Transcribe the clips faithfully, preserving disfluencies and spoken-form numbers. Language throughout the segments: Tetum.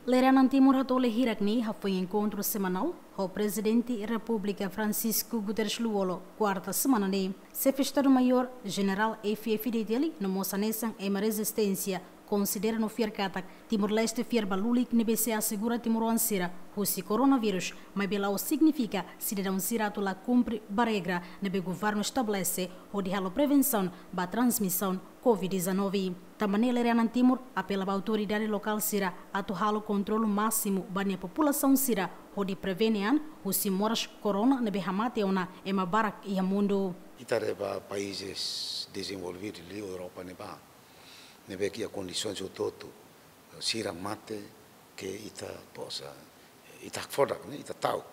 Lere-anan Timor hatoleh hirak ne'e hafoin enkontru semanál ho Prezidente Repúblika Francisco Guterres Lú-Olo, kuarta semana ne'e. Xefe Estadu-Maiór Jenerál F F Detalle no mós hanesan ema rezisténsia konsidera no fiar katak Timor-Leste fiar ba lulik ne'ebé sei asegura timoroan sira husi koronavírus, maibé la'ós signifika sidadaun sira atu la kumpre ba regra ne'ebé governu estabelese hodi halo prevensaun ba transmisaun covid dezanove. Tanba ne'e lere-anan Timor apela ba autoridade lokál sira atu halo kontrolu másimu ba nia populasaun sira hodi prevene an husi moras korona ne'ebé hamate ona ema barak iha mundu. Ita haree ba países dezenvolvidu liu Europa ne'ebá, ne'ebé ke iha kondisoens hotu-hotu, sira mate ke ita posa, ita hakfodak, ne'e, ita ta'uk.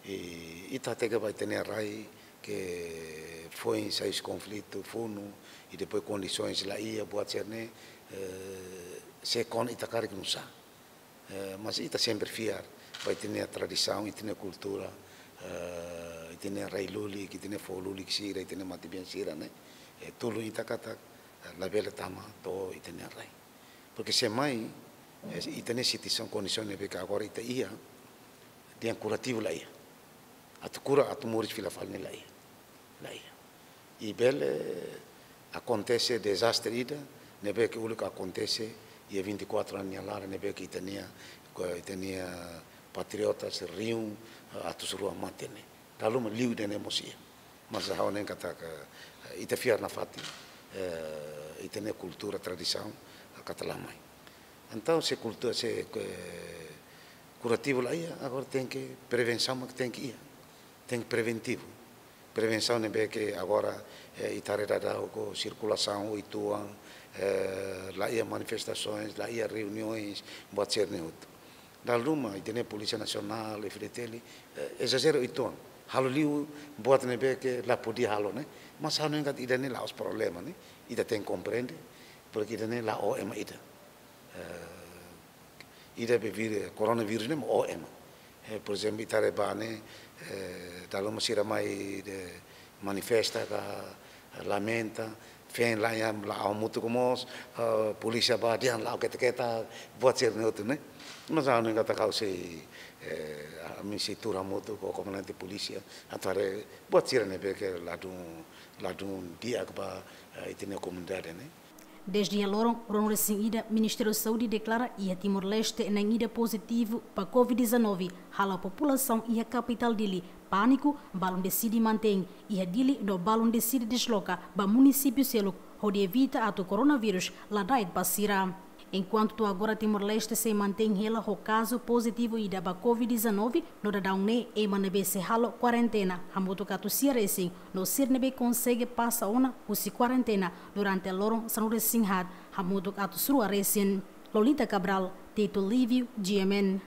I ita hateke ba ita-nia rai ke foin sai husi konflitu funu, i depois kondisoens la iha, buat sira-ne'e, eh, sei kona ita karik nusá. Eh, mas ita sempre fiar ba ita-nia tradisaun, ita-nia kultura, eh, ita-nia rai lulik, ita-nia foho lulik sira, ita-nia matebian sira, ne'e. Eh, tulun ita katak, eh, labele tama to'o ita-nia rai. Porke se mai, eh, ita-nia situasaun, kondisaun ne'ebé ke agora ita iha, dehan kurativu la iha. Atu kura, atu moris fila fali ne'e la iha. La iha. I bele akontese dezastre ida, ne'ebé ke uluk akontese iha vinte e quatro anos nia laran, ne'ebé ke ita-nia, ke ita-nia patriotas riun, eh, atus rua mate ne'e. Dala ruma liu ida-ne'e mós iha. Mas ha'u hanoin katak, eh, ita fiar nafatin, eh, ita-nia kultura, tradisaun, eh, katak la mai. Entaun, se kultura, se, eh, kurativu la iha, agora tenke prevensaun mak tenke iha. Tenke preventivu. Prevensaun ne'ebé ke agora, eh, ita haree daudaun ho sirkulasaun oituan, eh, la iha manifestasoens, la iha reuniões, buat sira-ne'e hotu. Dala ruma, ita-nia Polísia Nasionál, F D T L, eh, ezajera oituan. Halo liu buat ne'ebé ke la podia halo, ne'e. Mas ha'u hanoin katak ida-ne'e la'ós problema, ne'e. Ita tenke komprende, porke ida-ne'e la'o ema ida. Eh, ida be vir-, koronavírus ne'e mak oho ema. Eh, por ezemplu, ita haree ba ne'e, eh, dala ruma sira mai dehan manifesta ka lamenta, feen laiha la'o hamutuk mós, eh, polísia bá dehan la'o ketak-ketak, buat sira-ne'e hotu, ne'e. Mas ha'u hanoin katak ha'u sei, eh, ami sei tuur hamutuk ho komandante polísia, atu haree buat sira ne'ebé ke ladún, ladún di'ak ba, eh, ita-nia komunidade, ne'e. Dezde iha loron ruanulu-resin-ida, Ministériu Saúde deklara iha Timor-Leste na'in ida pozitivu ba covid dezanove, halo populasaun iha kapitál Dili pániku, balun deside mantein iha Dili no balun deside desloka ba munisípiu seluk, hodi evita atu koronavírus ladaek ba sira. Enkuantu to'o agora Timor-Leste sei mantein hela ho kazu pozitivu ida ba covid dezanove, no daudaun ne'e ema ne'ebé sei halo kuarentena hamutuk atus sia resin, no sira ne'ebé konsege pasa ona husi kuarentena durante loron sanulu-resin-haat hamutuk atus rua resin. Lolita Cabral, Tito Lívio, G M N.